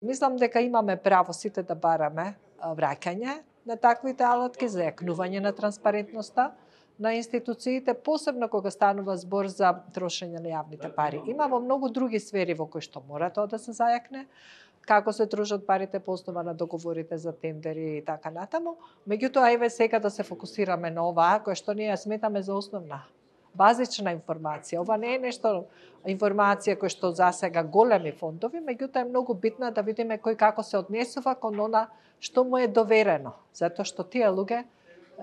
Мислам дека имаме право сите да бараме враќање на таквите алатки за јакнување на транспарентноста на институциите, посебно кога станува збор за трошење на јавните пари. Има во многу други сфери во кои што мора тоа да се зајакне, како се трошат парите по основа на договорите за тендери и така натаму. Меѓутоа, еве сега да се фокусираме на оваа која што ние ја сметаме за основна, базична информација. Ова не е нешто информација која што засега големи фондови, меѓутоа е многу битно да видиме кој како се однесува кон она што му е доверено, затоа што тие луѓе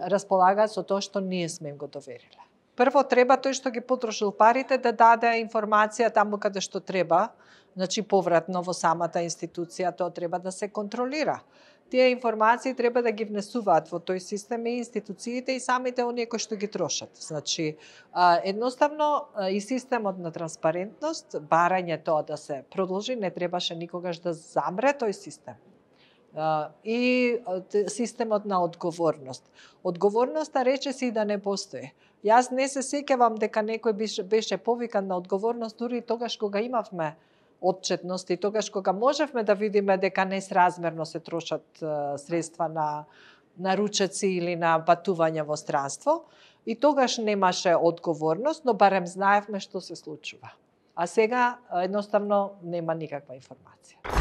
располагаат со тоа што ние сме им го довериле. Прво треба тој што ги потрошил парите да даде информација таму каде што треба, значи повратно во самата институција, тоа треба да се контролира. Тие информации треба да ги внесуваат во тој систем и институциите и самите оние кои што ги трошат. Значи, едноставно и системот на транспарентност, барање тоа да се продолжи, не требаше никогаш да замре тој систем. И системот на одговорност. Одговорноста речиси и да не постои. Јас не се сеќавам дека некој беше повикан на одговорност дури и тогаш кога имавме отчетност и тогаш кога можевме да видиме дека несразмерно се трошат средства на ручеци или на патување во странство, и тогаш немаше одговорност, но барем знаевме што се случува. А сега едноставно нема никаква информација.